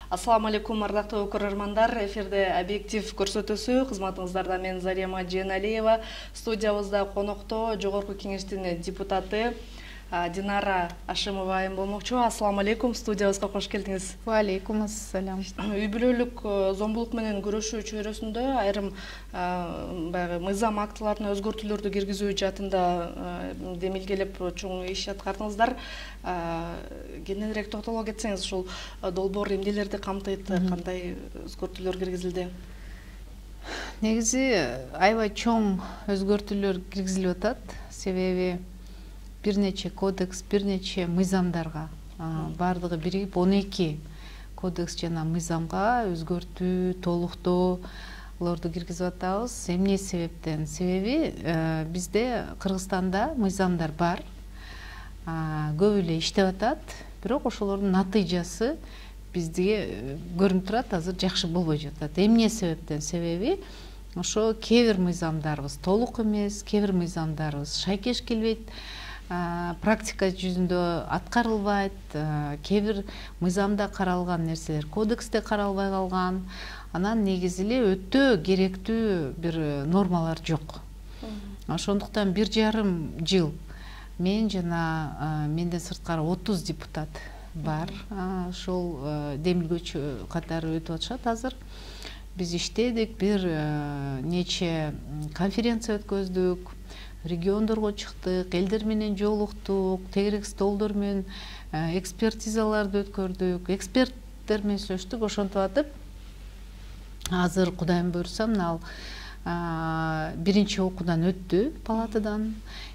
Ассаламу алейкум, ардактуу көрөрмандар. Эфирде объектив көрсөтүүсү. Кызматыңыздарда мен Зарема Жeenалиева. Студиябызда конокто Жогорку Кеңештин депутаты Динара Ашимова айым болмокчу. Ассаламу алейкум, студиябызга кош келдиңиз. Ва алейкум ассалам. Үй бүлөлүк зомбулук менен күрөшүү чөйрөсүндө айрым баягы мыйзам актыларына өзгөртүүлөрдү киргизүү жаатында демилгелеп чоң иш аткардыңыздар. Кененирээк токтоло кетсеңиз, ушул долбоор эмнелерди камтыйт, кандай өзгөртүүлөр киргизилди? Негизи аябай чоң өзгөртүүлөр киргизилип атат. Себеби бир нече кодекс, бир нече мыйзамдарга баардыгы биригип 12 кодекс жана мыйзамга өзгөртүү, толуктоолорду киргизип атабыз. Эмне себептен? Себеби бизде Кыргызстанда мыйзамдар бар, көп эле иштеп атат, бирок ошолордун натыйжасы бизге көрүнүп турат, азыр жакшы болбой жатат. Эмне себептен? Себеби ошо кээ бир мыйзамдарыбыз толук эмес, кээ бир мыйзамдарыбыз шайкеш келбейт, практика жүзүндө аткарылбайт, кээ бир мыйзамда каралган нерселер кодексте каралбай калган. Анан негизи эле өтө керектүү бир нормалар жок. Ошондуктан 1,5 жыл мен жана менден сырткары 30 депутат бар. Ошол демилгөөчү катары өтүп атышат азыр. Биз иштедик, бир нече конференция өткөздүк, региондорго чыктык, элдер менен жолуктук, тегерек столдор менен экспертизаларды өткөрдүк, эксперттер менен сүйлөштүк. Ошентип атып, азыр Кудайым буйрса, мына биринчи окуудан өттү палатадан,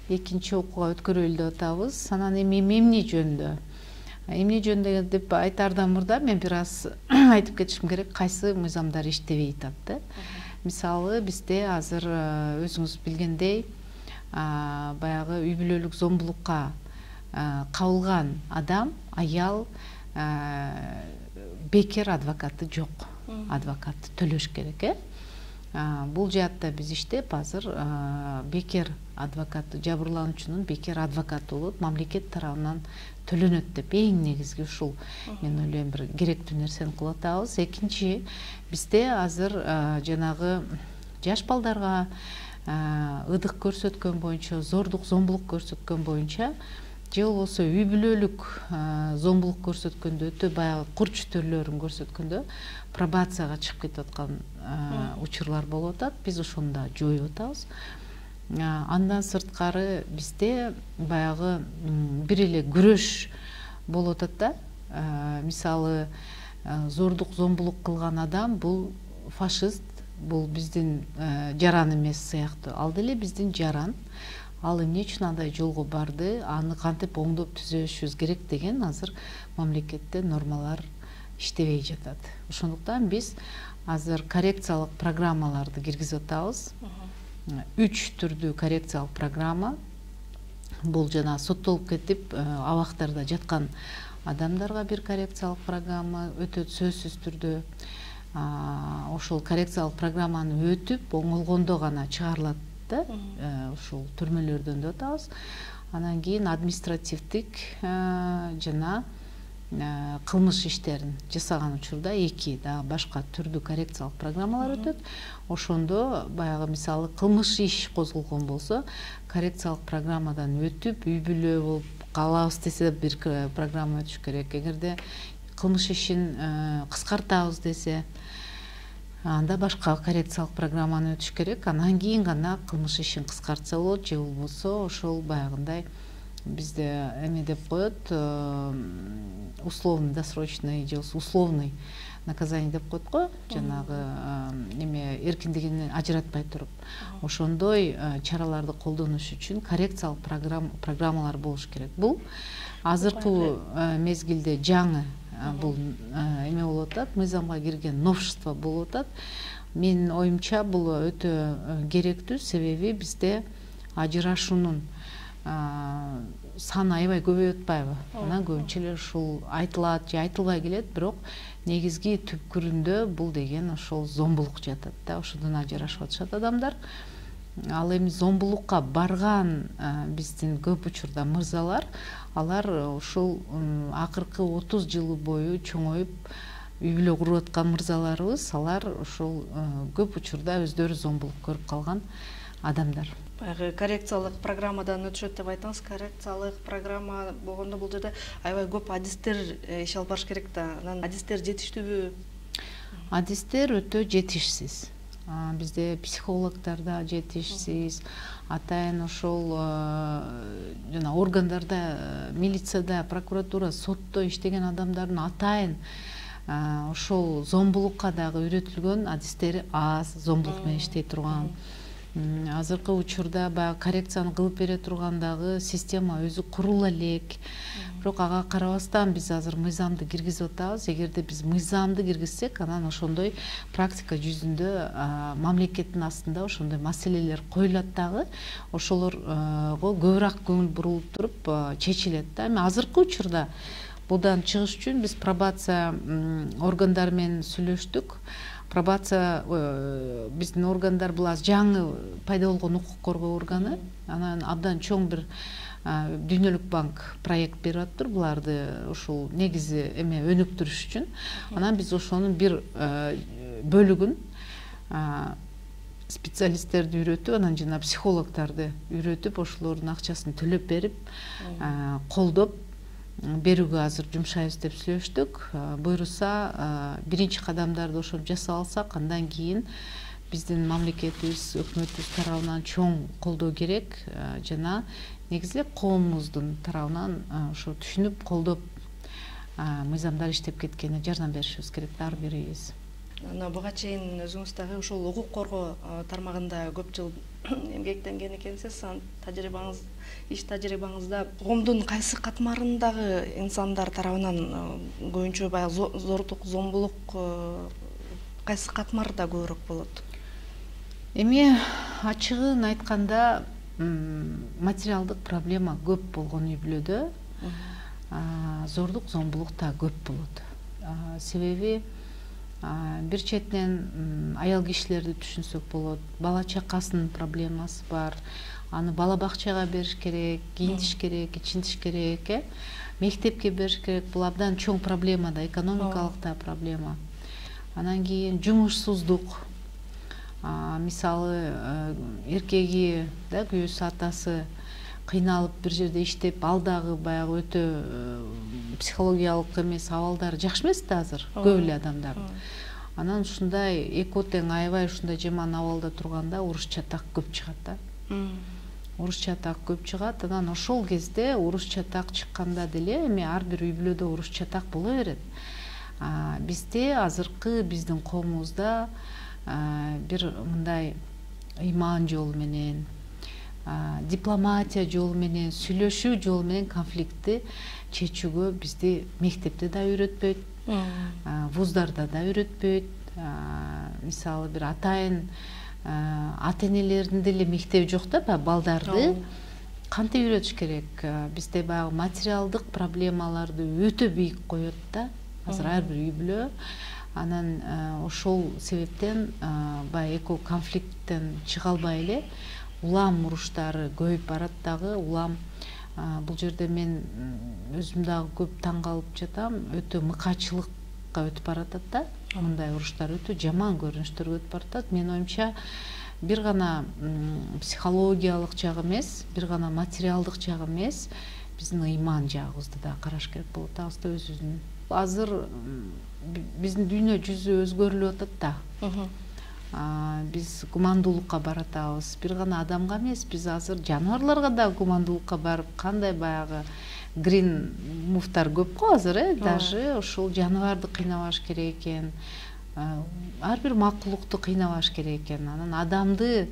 экинчи окууга өткөрөлү деп атабыз. Анан эми эмне жөнүндө? Эмне жөнүндө деп айтаардан мурда мен бир аз айтып кетишим керек, кайсы мыйзамдар иштебей атат да. Мисалы, бизде азыр өзүңүз билгендей, баягы үй бүлөлүк зомбулукка кабылган адам, аял, бекер адвокаты жок. Адвокатты төлөш керек, Бул жаатта биз иштеп, азыр бекер адвокаты, жабырлануучунун бекер адвокаты болот, мамлекет тарабынан төлөнөт деп эң негизги ушул мен ойлойм бир керектүү нерсени кылып атабыз. Экинчи, бизде азыр жанагы жаш балдарга ыдык көрсөткөн боюнча, зордук, зомбулук көрсөткөн боюнча, же болбосо үй бүлөлүк зомбулук көрсөткөндө, өтө баягы курч түрлөрүн көрсөткөндө пробацияга чыгып кетип аткан учурлар болуп атат. Биз ошону да жоюп атабыз. Андан сырткары бизде баягы бир эле күрөш болуп атат да. Мисалы, зордук, зомбулук кылган адам бул фашист, бул биздин жаран эмес сыяктуу. Ал деле биздин жаран. Ал эмне үчүн андай жолго барды, аны кантип оңдоп түзөшүбүз керек деген азыр мамлекетте нормалар иштебей жатат. Ошондуктан биз азыр коррекциялык программаларды киргизип атабыз. 3 түрдүү коррекциялык программа. Бул жана соттолуп кетип абактарда жаткан адамдарга бир коррекциялык программа өтөт сөзсүз түрдө. Ошол коррекциялык программаны өтүп, оңолгондо гана чыгарылат. Ушул түрмөлөрдөн деп атабыз. Анан кийин административдик жана кылмыш иштерин жасаган учурда 2 да башка түрдүү коррекциялык программалар өтөт. Ошондо баягы мисалы кылмыш иш козголгон болсо, коррекциялык программадан өтүп, үй бүлө болуп калабыз десе бир программа өтүш керек. Эгерде кылмыш ишин кыскартабыз десе, анда башка коррекциялык программаны өтүш керек. Анан кийин гана кылмыш ишин кыскартса болот, же болбосо ошол баягындай бизде эме деп коет, условный досрочный же условный наказание деп коет го, жанагы эме эркиндигин ажыратпай туруп. Ошондой чараларды колдонуш үчүн коррекциялык программалар болуш керек. Бул азыркы мезгилде жаңы бул эме болуп атат, мыйзамга кирген новшество болуп атат. Менин оюмча бул өтө керектүү, себеби бизде ажырашуунун саны аябай көбөйүп атпайбы? Анан көбүнчө эле ушул айтылат же айтылбай келет, бирок негизги түпкүрүндө бул деген ошол зомбулук жатат да, ошодон ажырашып атышат адамдар. Ал эми зомбулукка барган биздин көп учурда мырзалар, алар ушул акыркы 30 жыл бою чоңоюп үй бүлө куруп аткан мырзаларыбыз алар ошол көп учурда өздөрү зомбулук көрүп калган адамдар. Баягы коррекциялык программадан өтүшөт деп айттыңыз. Коррекциялык программа болгондо бул жерде аябай көп адистер иш алып барыш керек да. Анан адистер жетиштүүбү? Адистер өтө жетишсиз. Бизде психологдор да жетишсиз. Атайын ошол жана органдарда, милицияда, прокуратура, сотто иштеген адамдардын атайын ошол зомбулукка дагы үйрөтүлгөн адистери аз, зомбулук менен иштей турган. Азыркы учурда баягы коррекцияны кылып бере турган дагы система өзү курула элек. Бирок ага карабастан биз азыр мыйзамды киргизип атабыз. Эгерде биз мыйзамды киргизсек, анан ошондой практика жүзүндө мамлекеттин астында ошондой маселелер коюлат дагы, ошолорго көбүрөөк көңүл бурулуп туруп чечилет да. Эми азыркы учурда будан чыгыш үчүн биз пробация органдары менен сүйлөштүк. Пробация биздин органдар бул азыр жаңы пайда болгон укук коргоо органы. Анан абдан чоң бир Дүйнөлүк банк проект берип атыптыр буларды ушул негизи эме өнүктүрүш үчүн. Анан биз ошонун бир бөлүгүн специалисттерди үйрөтүп, анан жана психологдорду үйрөтүп, ошолордун акчасын төлөп берип, колдоп берүүгө азыр жумшайбыз деп сүйлөштүк. Буйруса биринчи кадамдарды ошентип жасап алсак, андан кийин биздин мамлекетибиз, өкмөтүбүз тарабынан чоң колдоо керек жана негизи коомубуздун тарабынан ошо түшүнүп, колдоп мыйзамдар иштеп кеткенине жардам беришибиз керек ар бирибиз. Буга чейин өзүңүз дагы ушул укук коргоо тармагында көп жыл эмгектенген экенсиз. Тажрыйбаңыз, иш тажрыйбаңызда коомдун кайсы катмарындагы инсандар тарабынан көбүнчө баягы зордук, зомбулук кайсы катмарда көбүрөөк болот? Эми ачыгын айтканда материалдык проблема көп болгон үй бүлөдө зордук, зомбулук да көп болот. Себеби бир четинен аял кишилерди түшүнсөк болот. Бала чакасынын проблемасы бар. Аны бала бакчага бериш керек, кийинтиш керек, ичинтиш керек, мектепке бериш керек. Бул абдан чоң проблема да, экономикалык да проблема. Анан кийин жумушсуздук. Мисалы, эркеги да күйөөсү, атасы кыйналып бир жерде иштеп, ал дагы баягы өтө психологиялык эмес, абалдары жакшы эмес да азыр көп эле адамдардын. Анан ушундай эки тең аябай ушундай жаман абалда турганда уруш чатак көп чыгат да. Уруш чатак көп чыгат. Анан ошол кезде уруш чатак чыкканда деле эми ар бир үй бүлөдө уруш чатак боло берет. Бизде азыркы биздин коомубузда бир мындай ыйман жолу менен, дипломатия жолу менен, сүйлөшүү жолу менен конфликтти чечүүгө бизди мектепте да үйрөтпөйт, вуздарда да үйрөтпөйт. Мисалы бир атайын ата энелердин деле мектеби жок да, балдарды кантип үйрөтүш керек? Бизде баягы материалдык проблемаларды өтө бийик коет да, азыр ар бир үй бүлө. Анан ошол себептен баягы эко конфликттен чыга албай эле улам уруштары көбөйүп барат дагы. Улам бул жерде мен өзүм дагы көп таң калып жатам, өтө мыкаачылыкка өтүп баратат да. Мындай уруштар өтө жаман көрүнүштөргө өтүп баратат. Менин оюмча бир гана психологиялык жагы эмес, бир гана материалдык жагы эмес, биздин ыйман жагыбызды да караш керек болот да, өзүбүздүн. Азыр биздин дүйнө жүзү өзгөрүлүп атат да. Биз гумандуулукка баратабыз. Бир гана адамга эмес, биз азыр жаныбарларга да гумандуулукка барып, кандай баягы грин муфтар көп го азыр, даже ошол жаныбарды кыйнабаш керек экен. Ар бир макулукту кыйнабаш керек экен. Анан адамды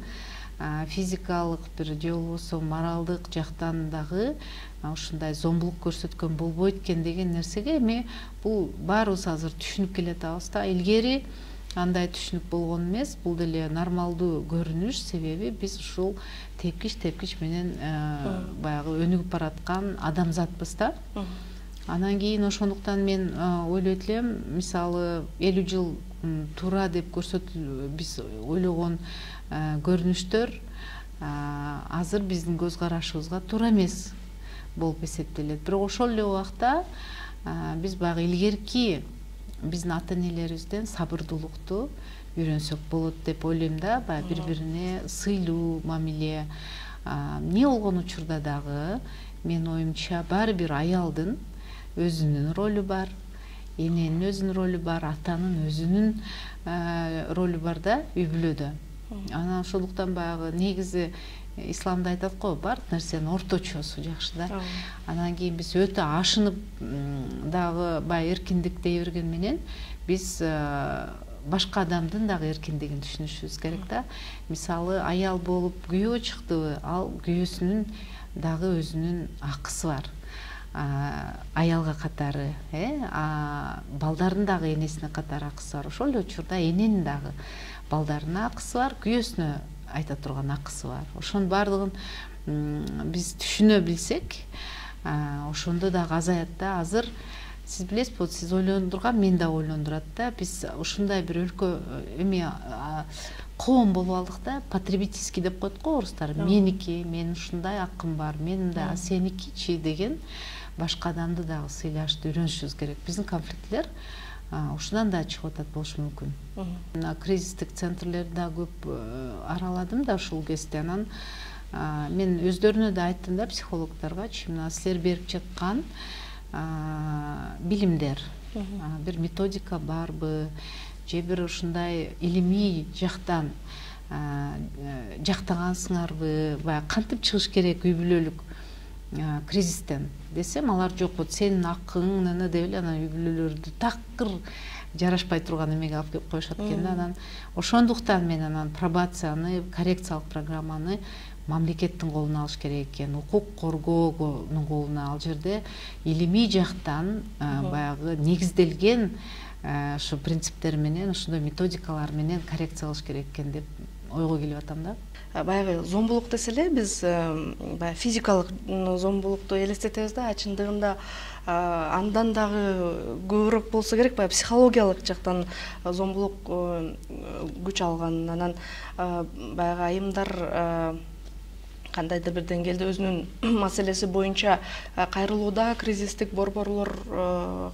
физикалык бир же болбосо моралдык жактан дагы ушундай зомбулук көрсөткөн болбойт экен деген нерсеге эми бул баарыбыз азыр түшүнүп келатабыз да. Илгери андай түшүнүк болгон эмес, бул деле нормалдуу көрүнүш, себеби биз ушул тепкич менен баягы өнүгүп бараткан адамзатпыз да. Анан кийин ошондуктан мен ойлойт элем, мисалы 50 жыл туура деп биз ойлогон көрүнүштөр азыр биздин көз карашыбызга туура эмес болуп эсептелет. Бирок ошол эле убакта биз баягы илгерки биздин ата энелерибизден сабырдуулукту үйрөнсөк болот деп ойлойм да. Баягы бири бирине сыйлуу мамиле. Эмне болгон учурда дагы менин оюмча баары бир аялдын өзүнүн ролу бар, эненин өзүнүн ролу бар, атанын өзүнүн ролу бар да үй бүлөдө. Анан ошондуктан баягы негизи исламда айтат го, баардык нерсенин орточосу жакшы да. Анан кийин биз өтө ашынып дагы баягы эркиндик дей берген менен биз башка адамдын дагы эркиндигин түшүнүшүбүз керек да. Мисалы аял болуп күйөө чыктыбы, ал күйөөсүнүн дагы өзүнүн акысы бар. Аялга катары, балдардын дагы энесине катары акысы бар. Ошол эле учурда эненин дагы балдарына акысы бар, күйөөсүнө айта турган акысы бар. Ошонун баардыгын биз түшүнө билсек, ошондо дагы азаят да. Азыр сиз билесизби, вот сиз ойлондурган мен да ойлондурат да. Биз ушундай бир өлкө коом болуп алдык да, потребительский деп коет го орустар. Меники, менин ушундай акым бар, менин да, сеникичи деген башка адамды дагы сыйлашты үйрөнүшүбүз керек. Биздин конфликтилер ушундан да чыгып атат болушу мүмкүн. Кризистик центрлерди да көп араладым да ушул кезде. Анан мен өздөрүнө да айттым да психологдоргочу, мына силер берип жаткан билимдер, бир методика барбы, же бир ушундай илимий жактан жактагансыңарбы, баягы кантип чыгыш керек үй бүлөлүк кризистен десем, алар жок, вот сенин акың деп эле анан үй бүлөлөрдү такыр жарашпай турган эмеге алып келип коюшат экен да. Анан ошондуктан мен анан пробацияны, коррекциялык программаны мамлекеттин колуна алыш керек экен, укук коргоонун колуна. Ал жерде илимий жактан баягы негизделген ошо принциптер менен, ошондой методикалар менен коррекция кылыш керек экен деп ойго келип атам да. Баягы зомбулук десе эле биз баягы физикалык зомбулукту элестетебиз да, чындыгында андан дагы көбүрөөк болсо керек, баягы психологиялык жактан зомбулук күч алган. Анан баягы айымдар кандайдыр бир деңгээлде өзүнүн маселеси боюнча кайрылууда, кризистик борборлор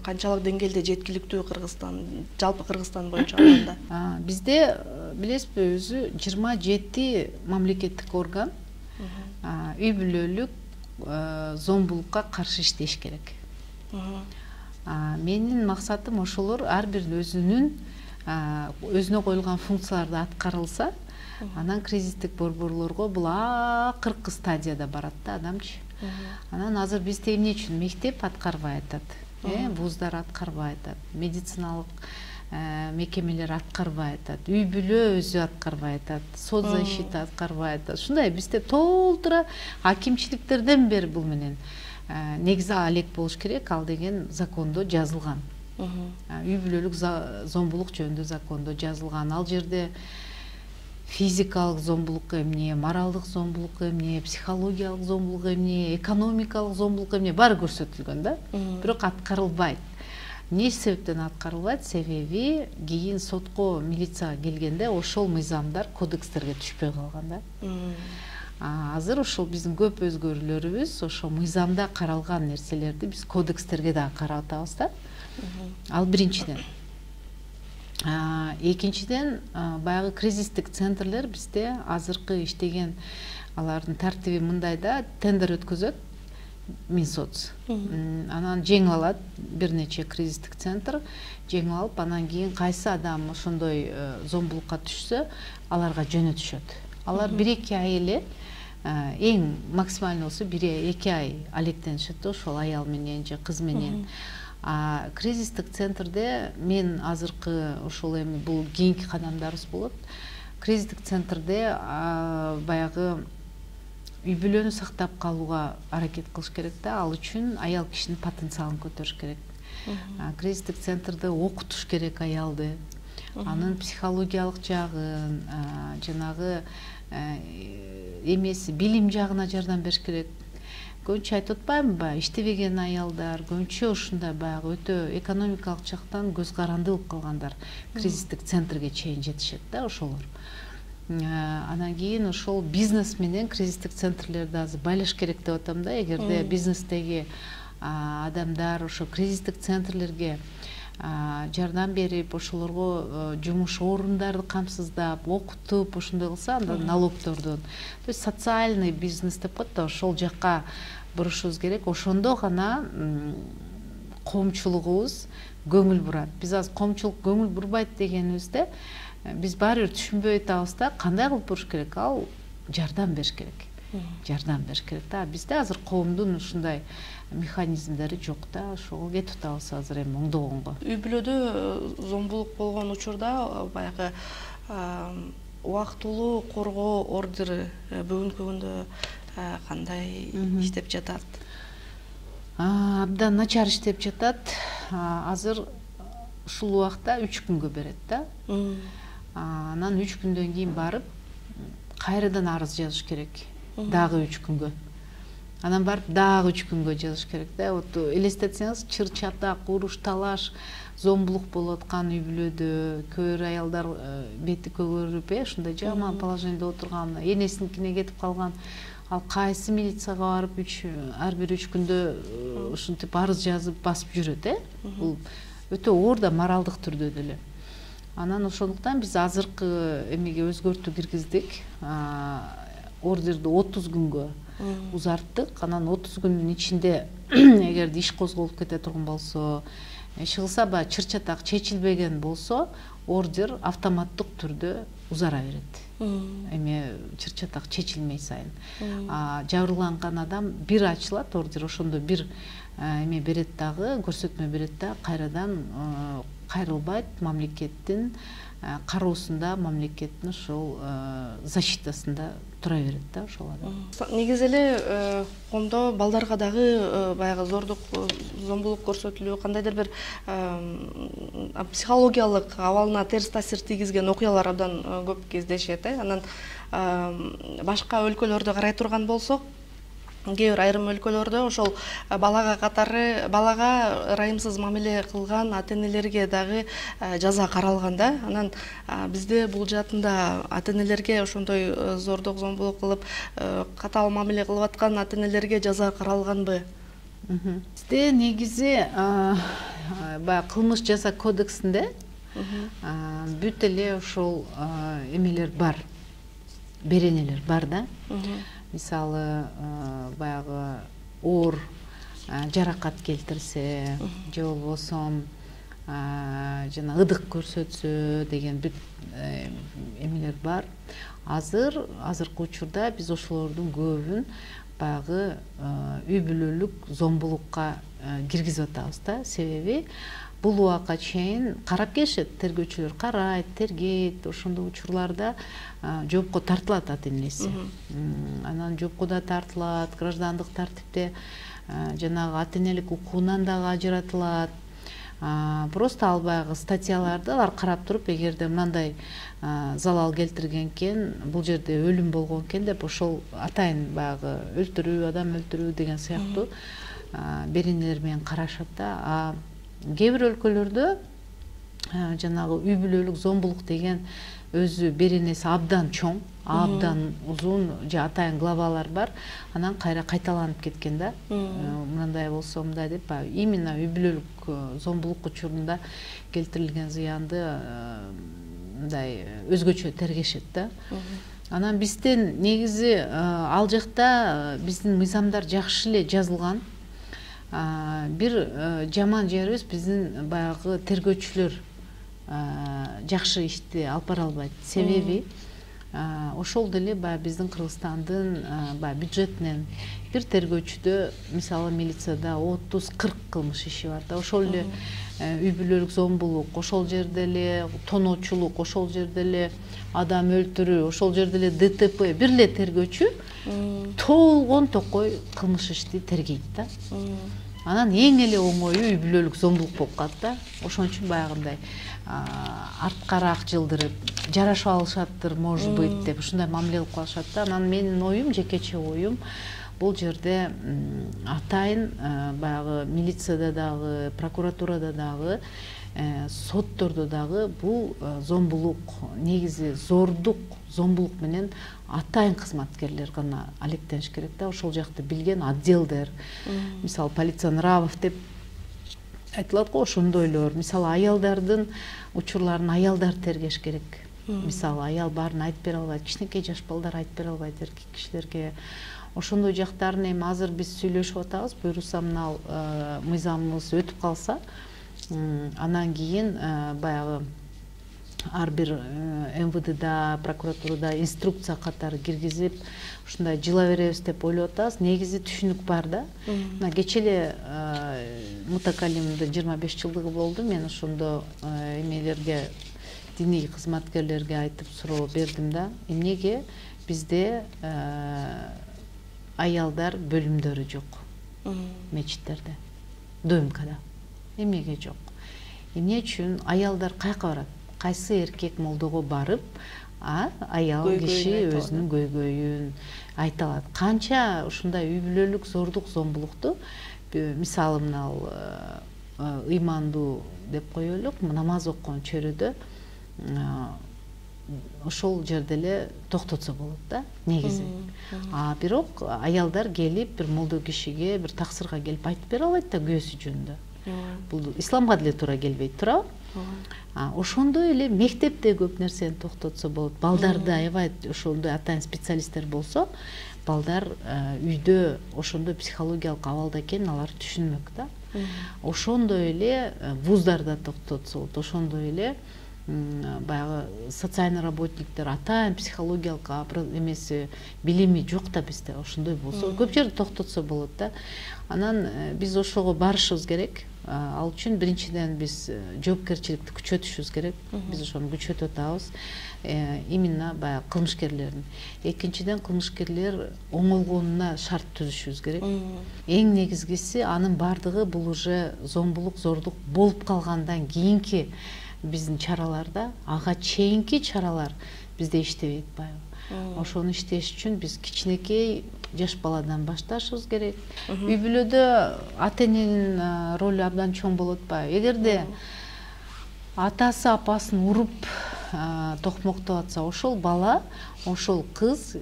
канчалык деңгээлде жеткиликтүү Кыргызстан, жалпы Кыргызстан боюнча алганда? Бизде билесизби, өзү 27 мамлекеттик орган үй бүлөлүк зомбулукка каршы иштеш керек. Менин максатым ошолор ар бир өзүнө коюлган функцияларды аткарылса, анан кризистик борборлорго бул акыркы стадияда барат да адамчы. Анан азыр бизде эмне үчүн мектеп аткарбай атат, вуздар аткарбай атат, медициналык мекемелер аткарбай атат, үй бүлө өзү аткарбай атат, соцзащита аткарбай атат. Ушундай бизде толтура акимчиликтерден бери бул менен негизи алек болуш керек, ал деген закондо жазылган. Үй бүлөлүк зомбулук жөнүндө закондо жазылган. Ал жерде физикалык зомбулук эмне, моралдык зомбулук эмне, психологиялык зомбулук эмне, экономикалык зомбулук эмне баары көрсөтүлгөн да. Бирок аткарылбайт. Эмне себептен аткарылбайт? Себеби кийин сотко, милицияга келгенде ошол мыйзамдар кодекстерге түшпөй калган да. Азыр ошол биздин көп өзгөрүүлөрүбүз ошо мыйзамда каралган нерселерди биз кодекстерге дагы карап атабыз да. Ал биринчиден. Экинчиден, баягы кризистик центрлер бизде азыркы иштеген алардын тартиби мындай да: тендер өткөзөт Минсоц. Анан жеңип алат бир нече кризистик центр, жеңип алып, анан кийин кайсы адам ошондой зомбулукка түшсө, аларга жөнөтүшөт. Алар 1-2 ай эле, эң максималдуу болсо 1-2 ай алектенишет ошол аял менен же кыз менен. Кризистик центрде мен азыркы ошол эми бул кийинки кадамдарыбыз болот. Кризистик центрде баягы үй бүлөнү сактап калууга аракет кылыш керек да. Ал үчүн аял кишинин потенциалын көтөрүш керек. Кризистик центрде окутуш керек аялды. Анын психологиялык жагын, жанагы эмеси, билим жагына жардам бериш керек. Көбүнчө айтып атпаймынбы, иштебеген аялдар, көбүнчө ушундай баягы өтө экономикалык жактан көз каранды болуп калгандар кризистик центрге чейин жетишет да ошолор. Анан кийин ошол бизнес менен кризистик центрлерди азыр байлаш керек деп атам да. Эгерде бизнестеги адамдар ошо кризистик центрлерге жардам берип, ошолорго жумуш орундарды камсыздап, окутуп, ошондой кылса, анда налогтордон, то есть социальный бизнес деп коет да, ошол жакка бурушубуз керек. Ошондо гана коомчулугубуз көңүл бурат. Биз азыр коомчулук көңүл бурбайт дегенибизде, биз баары бир түшүнбөй атабыз да, кандай кылып буруш керек? Ал жардам бериш керек. Жардам бериш керек да. Бизде азыр коомдун ушундай механизмдери жок да, ошого кетип атабыз азыр эми оңдогонго. Үй бүлөдө зомбулук болгон учурда баягы убактылуу коргоо ордери бүгүнкү күндө кандай иштеп жатат? Абдан начар иштеп жатат. Азыр ушул убакта 3 күнгө берет да. Анан 3 күндөн кийин барып кайрадан арыз жазыш керек. Дагы 3 күнгө. Анан барып дагы 3 күнгө жазыш керек да. Вот элестетсеңиз, чыр чатак, уруш талаш, зомбулук болуп аткан үй бүлөдө көр аялдар бети көгөрүп, ушундай жаман положениеде отурган, энесиникине кетип калган. Ал кайсы милицияга барып ар бир 3 күндө ушинтип арыз жазып басып жүрөт, Бул өтө оор да, моралдык түрдө деле. Анан ошондуктан биз азыркы эмеге өзгөртүү киргиздик. Ордерди 30 күнгө узарттык. Анан 30 күндүн ичинде эгерде иш козголуп кете турган болсо, иши кылса баягы чыр-чатак чечилбеген болсо, ордер автоматтык түрдө узара берет. Эми чыр-чатак чечилмей сайын. Жабырланган адам бир ачылат ордер, ошондо бир эме берет дагы, көрсөтмө берет да, кайрадан кайрылбайт, мамлекеттин кароосунда, мамлекеттин ошол защитасында тура берет да ошол адам. Негизи эле коомдо балдарга дагы баягы зордук, зомбулук көрсөтүлүү, кандайдыр бир психологиялык абалына терс таасир тийгизген окуялар абдан көп кездешет. Анан башка өлкөлөрдө карай турган болсок, кээ бир айрым өлкөлөрдө ошол балага ырайымсыз мамиле кылган ата-энелерге дагы жаза каралган да. Анан бизде бул жаатында ата-энелерге ошондой зордук, зомбулук кылып, катаал мамиле кылып аткан ата-энелерге жаза каралганбы? Бизде негизи баягы кылмыш жаза кодексинде бүт эле ошол эмелер бар, беренелер бар да. Мисалы, баягы оор жаракат келтирсе, же болбосо жана ыдык көрсөтсө деген бүт эмелер бар. Азыркы учурда биз ошолордун көбүн баягы үй бүлөлүк зомбулукка киргизип атабыз да. Себеби бул убакка чейин карап келишет, тергөөчүлөр карайт, тергейт, ошондой учурларда жоопко тартылат ата-энеси. Анан жоопко да тартылат, граждандык тартипте жанагы ата-энелик укугунан дагы ажыратылат. Просто ал баягы статьяларды алар карап туруп, эгерде мындай залал келтирген экен, бул жерде өлүм болгон экен деп, ошол атайын баягы өлтүрүү, адам өлтүрүү деген сыяктуу беренелер менен карашат да. Кээ бир өлкөлөрдө жанагы үй бүлөлүк зомбулук деген өзү беренеси абдан чоң, абдан узун, же атайын главалар бар. Анан кайталанып кеткен да. Мындай болсо мындай деп, именно үй бүлөлүк зомбулук учурунда келтирилген зыянды мындай өзгөчө тергешет да. Анан бизден негизи ал жакта биздин мыйзамдар жакшы эле жазылган. Бир жаман жерибиз, биздин баягы тергөөчүлөр жакшы ишти алып бара албайт. Себеби ошол деле баягы биздин Кыргызстандын баягы бюджетинен бир тергөөчүдө, мисалы милицияда 30-40 кылмыш иши бар да. Ошол эле үй бүлөлүк зомбулук, ошол жерде эле тоноочулук, ошол жерде эле адам өлтүрүү, ошол жерде эле ДТП, бир эле тергөөчү толгон токой кылмыш ишти тергейт да. Анан эң эле оңою үй бүлөлүк зомбулук болуп калат да. Ошон үчүн баягындай арткараак жылдырып, жарашып алышаттыр, может быть деп ушундай мамиле кылып калышат да. Анан менин оюм, жекече оюм, бул жерде атайын баягы милицияда дагы, прокуратурада дагы, соттордо дагы бул зомбулук, негизи зордук, зомбулук менен атайын кызматкерлер гана алектениш керек да. Ошол жакты билген отделдер, мисалы полиция нравов деп айтылат го ошондойлор. Мисалы аялдардын учурларын аялдар тергеш керек. Мисалы аял баарын айтып бере албайт, кичинекей жаш балдар айтып бере албайт эркек кишилерге. Ошондой жактарын эми азыр биз сүйлөшүп атабыз. Буюрса мына мыйзамыбыз өтүп калса, анан кийин баягы ар бир МВДда, прокуратурада инструкция катары киргизип, ушундай жыла беребиз деп ойлоп атабыз. Негизи түшүнүк бар да. Мына кечээ эле мутакаллимдин 25 жылдыгы болду. Мен ошондо эмелерге, диний кызматкерлерге айтып суроо бердим да. Эмнеге бизде аялдар бөлүмдөрү жок мечиттерде, ДМКда? Эмнеге жок? Эмне үчүн аялдар каяка барат? Кайсы эркек молдого барып, аял киши өзүнүн көйгөйүн айта алат? Канча ушундай үй бүлөлүк зордук, зомбулукту, мисалы мына ыймандуу деп коелук, намаз окуган чөрөдө ошол жерде эле токтотсо болот да, негизи. Бирок аялдар келип бир молдо кишиге, бир таксырга келип айтып бере албайт да күйөөсү жөнүндө. Бул исламга деле туура келбейт, туурабы? Ошондой эле мектепте көп нерсени токтотсо болот. Балдарды аябай ошондой атайын специалисттер болсо, балдар үйдө ошондой психологиялык абалда экенин алар түшүнмөк да. Ошондой эле вуздарда токтотсо болот. Ошондой эле баягы социальный работниктер атайын психологиялык эмеси, билими жок да бизде. Ошондой болсо көп жерде токтотсо болот да. Анан биз ошого барышыбыз керек. Ал үчүн биринчиден биз жоопкерчиликти күчөтүшүбүз керек. Биз ошону күчөтүп атабыз. Именно баягы кылмышкерлердин. Экинчиден кылмышкерлер оңолгонуна шарт түзүшүбүз керек. Эң негизгиси анын бардыгы бул уже зомбулук, зордук болуп калгандан кийинки биздин чараларда, ага чейинки чаралар бизде иштебейт баягы. Ошону иштеш үчүн биз кичинекей жаш баладан башташыбыз керек. Үй бүлөдө ата эненин ролу абдан чоң болот атпайбы? Эгерде атасы апасын уруп токмоктоп атса, ошол бала, ошол кыз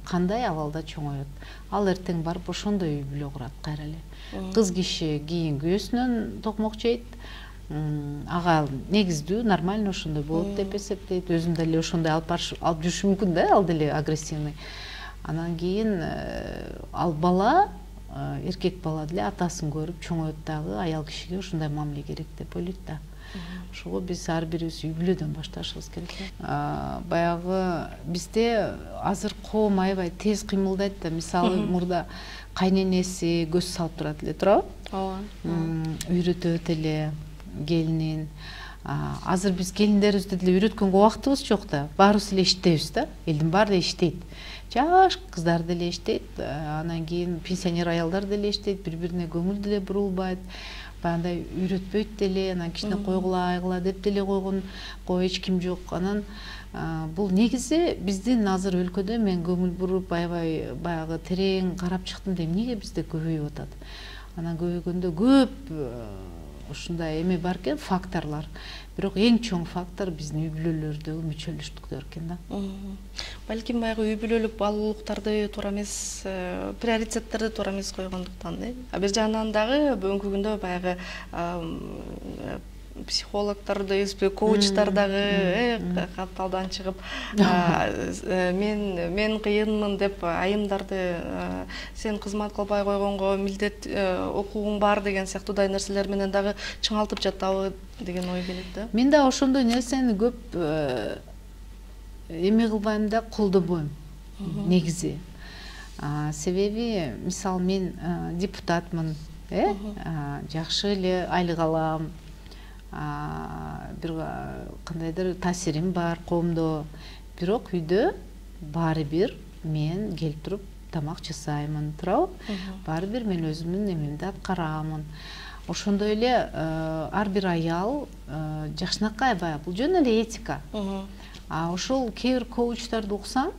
кандай абалда чоңоет? Ал эртең барып ошондой үй бүлө курат кайра эле. Кыз киши кийин күйөөсүнөн токмок жейт. Ага негиздүү, нормально ошондой болот деп эсептейт. Өзүм деле ошондой алып жүрүшү мүмкүн да, ал деле агрессивный. Анан кийин ал бала, эркек бала деле атасын көрүп чоңоет дагы, аял кишиге ушундай мамиле керек деп ойлойт да. Ошого биз ар бирибиз үй бүлөдөн башташыбыз керек. Баягы бизде азыр коом аябай тез кыймылдайт да. Мисалы мурда кайненеси көз салып турат эле, туурабы? Ооба. Үйрөтөт эле келинин. Азыр биз келиндерибизди деле үйрөткөнгө убактыбыз жок да. Баарыбыз эле иштейбиз да. Элдин баары эле иштейт. Жаш кыздар деле иштейт, анан кийин пенсионер аялдар деле иштейт, бири-бирине көңүл деле бурулбайт. Баягындай үйрөтпөйт деле, анан кичине койгула, айгыла деп деле койгон эч ким жок. Анан бул негизи биздин азыр өлкөдө мен көңүл буруп аябай баягы терең карап чыктым да, эмнеге бизде көбөйүп атат? Анан көбөйгөндө көп ушундай эме бар экен, факторлор. Бирок эң чоң фактор биздин үй бүлөлөрдөгү мүчөлүштүктөр экен да. Балким баягы үй бүлөлүк баалуулуктарды туура эмес, приоритеттерди туура эмес койгондуктан, бир жагынан дагы бүгүнкү күндө баягы психологдорду, коучтар дагы катталдан чыгып, мен кыйынмын деп айымдарды, сен кызмат кылбай койгонго милдет укугуң бар деген сыяктуудай нерселер менен дагы чыңалтып жатабы деген ой келет да. Мен да ошондой нерсени көп эме кылбайм да, колдобойм негизи. Себеби, мисалы мен депутатмын, жакшы эле айлык алам, бир кандайдыр таасирим бар коомдо. Бирок үйдө баары бир мен келип туруп тамак жасаймын, туурабы? Баары бир мен өзүмдүн эмемди аткарамын. Ошондой эле ар бир аял жакшынакай баягы бул жөн эле этика. Ошол кээ бир коучтарды уксаң,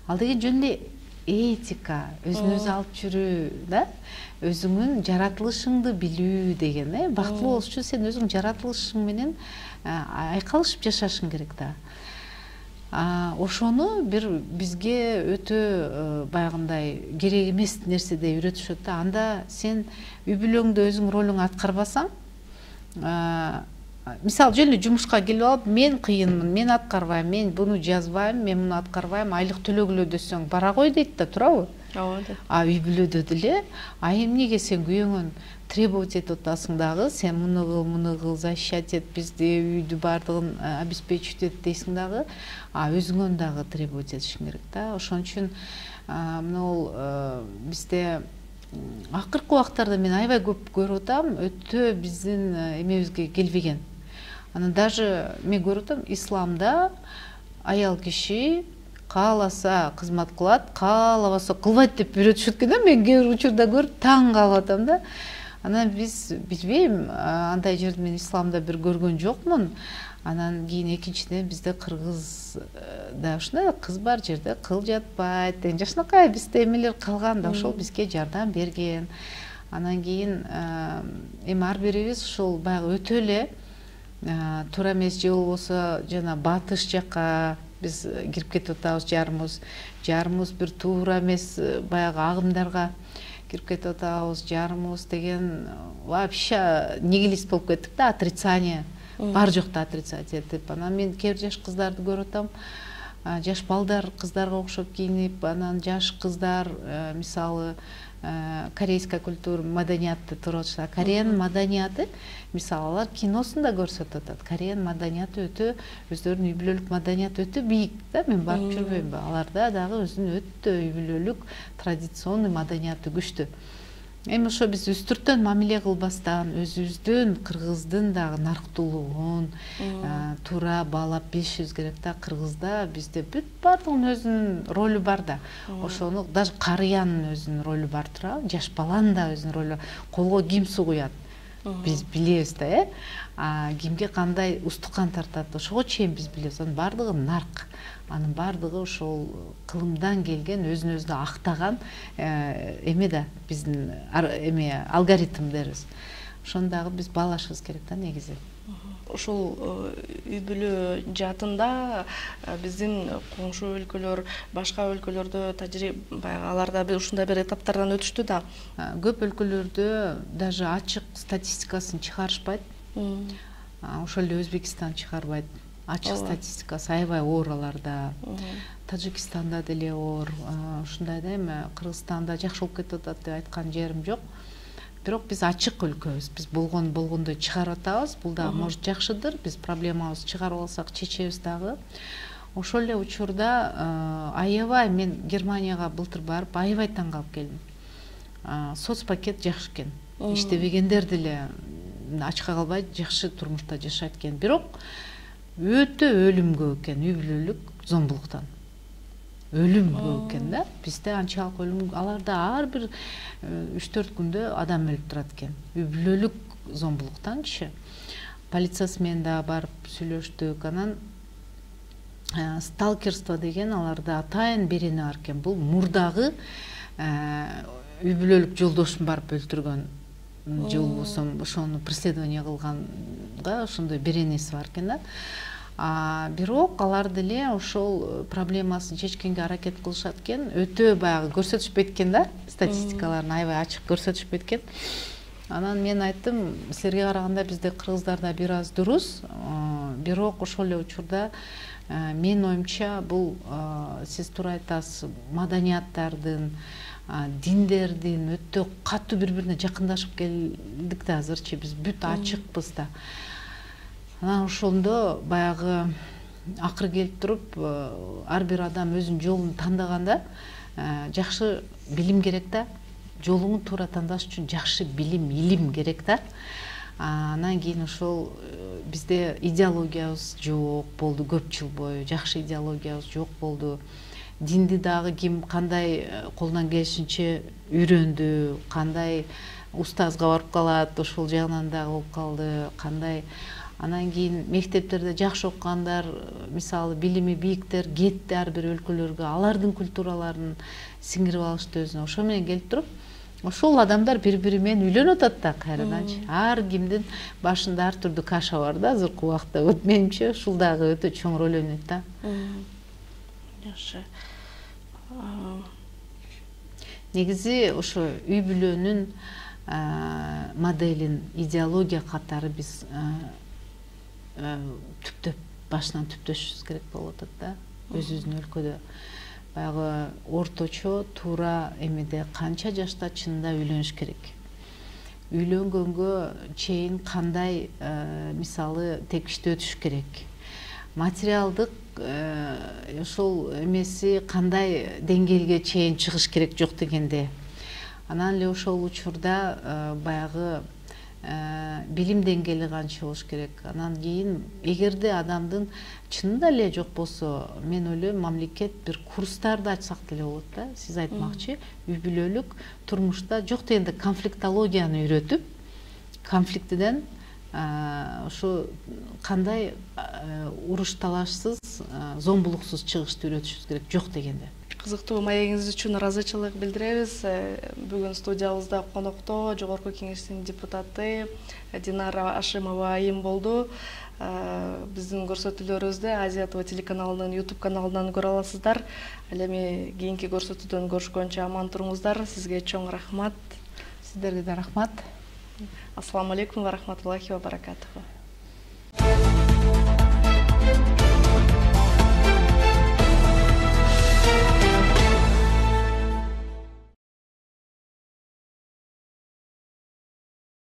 ал деген жөн эле этика, өзүн өзү алып жүрүү да, өзүңүн жаратылышыңды билүү деген, бактылуу болуш үчүн сен өзүң жаратылышың менен айкалышып жашашың керек да. Ошону бир бизге өтө баягындай керек эмес нерседей үйрөтүшөт да. Анда сен үй бүлөңдө өзүң ролуңду аткарбасаң, мисалы жөн эле жумушка келип алып, мен кыйынмын, мен аткарбайм, мен буну жазбайм, мен муну аткарбайм, айлык төлөгүлө десең бара кой дейт да, туурабы? Ооба. Үй бүлөдө деле, эмнеге сен күйөөңөн требовать этип атасың дагы, сен муну кыл, защищать эт, бизди үйдү бардыгын обеспечить эт дейсиң дагы, өзүңөн дагы требовать этишиң керек да. Ошон үчүн могул бизде акыркы убактарда мен аябай көп көрүп атам, өтө биздин эмебизге келбеген. Анан даже мен көрүп атам, исламда аял киши кааласа кызмат кылат, каалабаса кылбайт деп үйрөтүшөт экен да. Мен кээ бир учурда көрүп таң калып атам да. Анан биз билбейм, андай жерди мен исламда бир көргөн жокмун. Анан кийин экинчиден бизде кыргызда ушундай кыз бар жерде кыл жатпайт деген жакшынакай бизде эмелер калган да, ошол бизге жардам берген. Анан кийин эми ар бирибиз ушул баягы өтө эле туура эмес же болбосо жана батыш жакка биз кирип кетип атабыз, жарымыбыз бир туура эмес баягы агымдарга кирип кетип атабыз, жарымыбыз деген вообще нигилист болуп кеттик да, отрицание, бар жокто отрицать этип. Анан мен кээ бир жаш кыздарды көрүп атам, жаш балдар кыздарга окшоп кийинип, анан жаш кыздар мисалы корейская культура, маданиятты туруп атышат. Кореянын маданияты, мисалы алар киносунда көрсөтүп атат. Кореянын маданияты өтө, өздөрүнүн үй бүлөлүк маданияты өтө бийик да. Мен барып жүрбөйм, аларда дагы өзүнүн өтө үй бүлөлүк традиционный маданияты күчтүү. Эми ошо биз үстүртөн мамиле кылбастан, өзүбүздүн кыргыздын дагы нарктуулугун туура баалап билишибиз керек да. Кыргызда бизде бүт баардыгынын өзүнүн ролу бар да. Ошону даже карыянын өзүнүн ролу бар, туурабы? Жаш баланын да өзүнүн ролу. Колго ким суу куят? Биз билебиз да, кимге кандай устукан тартат, ошого чейин биз билебиз. Анын баардыгы нарк. Анын баардыгы ошол кылымдан келген, өзүн өзү актаган эме да, биздин эме алгоритм дербиз. Ошону дагы биз баалашыбыз керек да негизи. Ушул үй бүлө жаатында биздин коңшу өлкөлөр, башка өлкөлөрдө баягы аларда ушундай бир этаптардан өтүштү да. Көп өлкөлөрдө даже ачык статистикасын чыгарышпайт. Ошол эле Өзбекистан чыгарбайт. Ачык статистикасы аябай оор аларда. Тажикстанда деле оор. Ушундай да, эми Кыргызстанда жакшы болуп кетип атат деп айткан жерим жок. Бирок биз ачык өлкөбүз. Биз болгондой чыгарып атабыз. Бул да может жакшыдыр. Биз проблемабызды чыгарып алсак чечебиз дагы. Ошол эле учурда аябай, мен Германияга былтыр барып аябай таң калып келдим. Соцпакет жакшы экен. Иштебегендер деле ачка калбай жакшы турмушта жашайт экен. Бирок өтө өлүм көп экен үй бүлөлүк зомбулуктан. Өлүм көп экен да. Бизде анчалык өлүм, аларда ар бир 3-4 күндө адам өлүп турат экен. Үй бүлөлүк зомбулуктанчы. Полициясы менен да барып сүйлөштүк. Анан сталкерство деген аларда атайын берени бар экен. Бул мурдагы үй бүлөлүк жолдошун барып өлтүргөн же болбосо ошону преследование кылганга ошондой беренеси бар экен да. Бирок алар деле ошол проблемасын чечкенге аракет кылышат экен. Өтө баягы көрсөтүшпөйт экен да, статистикаларын аябай ачык көрсөтүшпөйт экен. Анан мен айттым, силерге караганда бизде кыргыздарда бир аз дурус, бирок ошол эле учурда менин оюмча бул сиз туура айтасыз, маданияттардын, диндердин өтө катуу бири-бирине жакындашып келдик да азырчы, биз бүт ачыкпыз да. Анан ошондо баягы акыры келип туруп ар бир адам өзүнүн жолун тандаганда жакшы билим керек да. Жолуңду туура тандаш үчүн жакшы билим, илим керек да. Анан кийин ошол бизде идеологиябыз жок болду көп жыл бою, жакшы идеологиябыз жок болду. Динди дагы ким кандай колунан келишинче үйрөндү, кандай устазга барып калат, ошол жагынан дагы болуп калды, кандай. Анан кийин мектептерде жакшы окугандар, мисалы билими бийиктер кетти ар бир өлкөлөргө, алардын культураларын сиңирип алышты өзүнө. Ошо менен келип туруп, ошол адамдар бири-бири менен үйлөнүп атат да кайраданчы. Ар кимдин башында ар түрдүү каша бар да азыркы убакта. Менимче ушул дагы өтө чоң роль ойнойт да. Жакшы. Негизи ошо үй бүлөнүн моделин идеология катары биз түптөп башынан түптөшүбүз керек болуп атат да өзүбүздүн өлкөдө. Баягы орточо туура эмеде канча жашта чынында үйлөнүш керек, үйлөнгөнгө чейин кандай мисалы тепкичти өтүш керек, материалдык ошол эмеси кандай деңгээлге чейин чыгыш керек жок дегенде. Анан эле ошол учурда баягы билим деңгээли канча болуш керек. Анан кийин эгерде адамдын чынында эле жок болсо, мен ойлойм мамлекет бир курстарды ачсак деле болот да. Сиз айтмакчы, үй бүлөлүк турмушта жок дегенде конфликтологияны үйрөтүп, конфликтиден ошо кандай уруш талашсыз, зомбулуксуз чыгышты үйрөтүшүбүз керек жок дегенде. Кызыктуу маегиңиз үчүн ыраазычылык билдиребиз. Бүгүн студиябызда конокто Жогорку Кеңештин депутаты Динара Ашимова айым болду. Биздин көрсөтүүлөрүбүздү Азия ТВ телеканалынын YouTube каналынан көрө аласыздар. Ал эми кийинки көрсөтүүдөн көрүшкөнчө аман туруңуздар. Сизге чоң рахмат. Сиздерге да рахмат. Ассаламу алейкум ва рахматуллахи ва баракатуху.